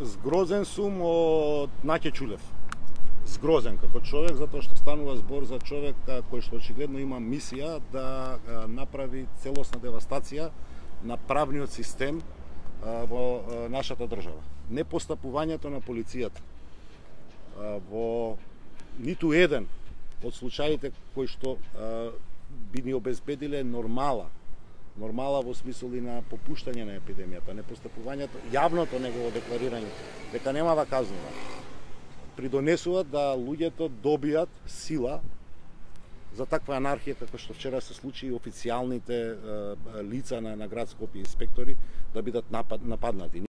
Згрозен сум од Наќе Чулев. Згрозен како човек, затоа што станува збор за човек кој што очигледно има мисија да направи целосна девастација на правниот систем во нашата држава. Непостапувањето на полицијата во ниту еден од случаите кои што би ни обезбедиле нормала во смисол и на попуштање на епидемијата, непостапувањето, јавното негово декларирање дека нема да казнува, придонесуваат да луѓето добијат сила за таква анархија како што вчера се случи и официјалните лица на град Скопје инспектори да бидат нападнати.